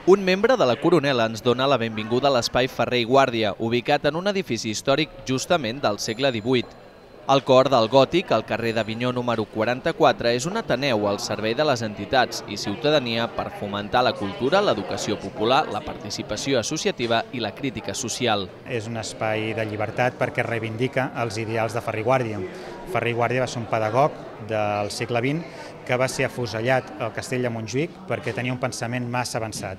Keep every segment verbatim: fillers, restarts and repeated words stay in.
Un membre de la Coronela ens dona la benvinguda a l'espai Ferrer i Guàrdia, ubicat en un edifici històric justament del segle divuit. El cor del Gòtic, al carrer d'Avinyó número quaranta-quatre, és un ateneu al servei de les entitats i ciutadania per fomentar la cultura, l'educació popular, la participació associativa i la crítica social. És un espai de llibertat perquè reivindica els ideals de Ferrer i Guàrdia. Ferrer i Guàrdia va ser un pedagog del segle vint que va ser afusellat al castell de Montjuïc perquè tenia un pensament massa avançat,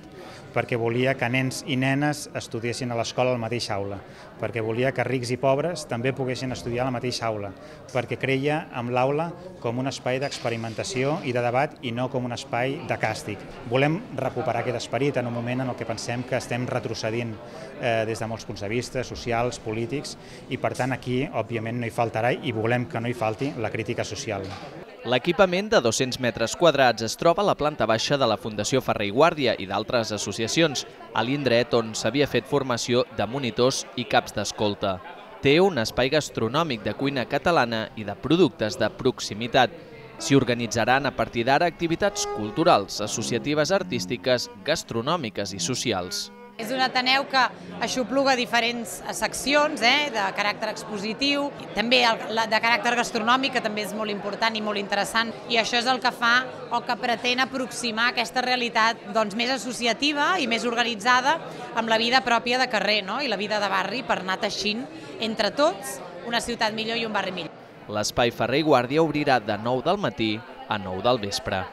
perquè volia que nens i nenes estudiessin a l'escola a la mateixa aula, perquè volia que rics i pobres també poguessin estudiar a la mateixa aula, perquè creia en l'aula com un espai d'experimentació i de debat i no com un espai de càstig. Volem recuperar aquest esperit en un moment en el que pensem que estem retrocedint eh, des de molts punts de vista, socials, polítics, i per tant aquí, òbviament, no hi faltarà i volem que no hi falti la crítica social. L'equipament de dos-cents metres quadrats es troba a la planta baixa de la Fundació Ferrer i Guàrdia i d'altres associacions, a l'indret on s'havia fet formació de monitors i caps d'escolta. Té un espai gastronòmic de cuina catalana i de productes de proximitat. S'hi organitzaran a partir d'ara activitats culturals, associatives, artístiques, gastronòmiques i socials. És un ateneu que aixopluga diferents seccions eh, de caràcter expositiu, també de caràcter gastronòmic, que també és molt important i molt interessant, i això és el que fa o que pretén aproximar aquesta realitat doncs, més associativa i més organitzada amb la vida pròpia de carrer, no? I la vida de barri, per anar teixint entre tots una ciutat millor i un barri millor. L'espai Ferrer i Guàrdia obrirà de nou del matí a nou del vespre.